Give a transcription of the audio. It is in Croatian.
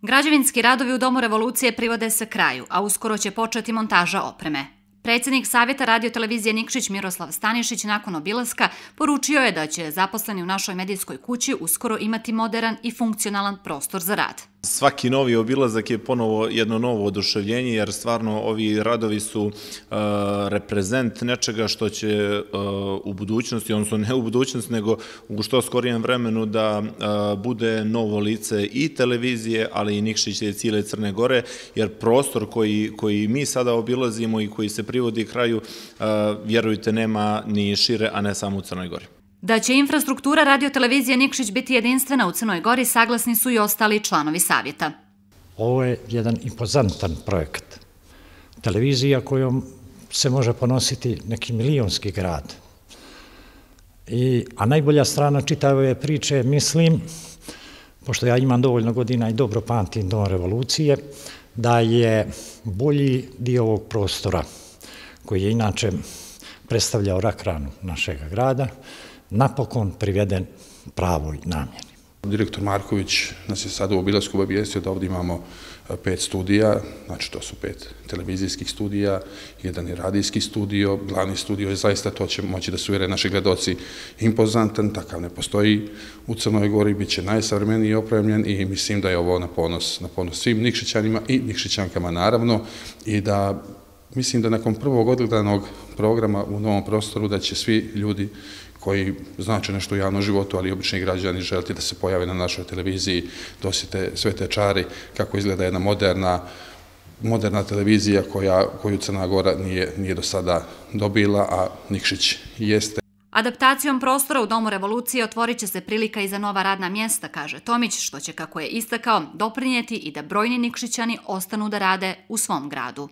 Građevinski radovi u Domu revolucije privode se kraju, a uskoro će početi montaža opreme. Predsjednik Savjeta radio-televizije Nikšić Miroslav Stanišić nakon obilaska poručio je da će zaposleni u našoj medijskoj kući uskoro imati moderan i funkcionalan prostor za rad. Svaki novi obilazak je ponovo jedno novo oduševljenje, jer stvarno ovi radovi su reprezent nečega što će u budućnosti, odnosno ne u budućnosti, nego u što skorijem vremenu da bude novo lice i televizije, ali i Nikšića i cijele Crne Gore, jer prostor koji mi sada obilazimo i koji se privodi kraju, vjerujte, nema ni šire, a ne samo u Crnoj Gori. Da će infrastruktura radio-televizije Nikšić biti jedinstvena u Crnoj Gori, saglasni su i ostali članovi savjeta. Ovo je jedan impozantan projekat. Televizija kojom se može ponositi neki milionski grad. A najbolja strana čitave priče, mislim, pošto ja imam dovoljno godina i dobro pamtim Dom revolucije, da je bolji dio ovog prostora, koji je inače predstavljao rak ranu našeg grada, napokon priveden pravoj namjeni. Direktor Marković nas je sada u obilasku obavijestio da ovdje imamo 5 studija, znači to su 5 televizijskih studija, jedan je radijski studio, glavni studio je zaista, to će moći da se uvjere naši gledaoci, impozantan, takav ne postoji u Crnoj Gori, bit će najsavremeniji opremljen i mislim da je ovo na ponos svim Nikšićanima i Nikšićankama naravno, i da mislim da nakon prvog odgledanog programa u novom prostoru da će svi ljudi koji znače nešto u javnom životu, ali i obični građani želiti da se pojave na našoj televiziji, dosjete sve te čari, kako izgleda jedna moderna televizija koju Crna Gora nije do sada dobila, a Nikšić jeste. Adaptacijom prostora u Domu revolucije otvorit će se prilika i za nova radna mjesta, kaže Tomić, što će, kako je istakao, doprinijeti i da brojni Nikšićani ostanu da rade u svom gradu.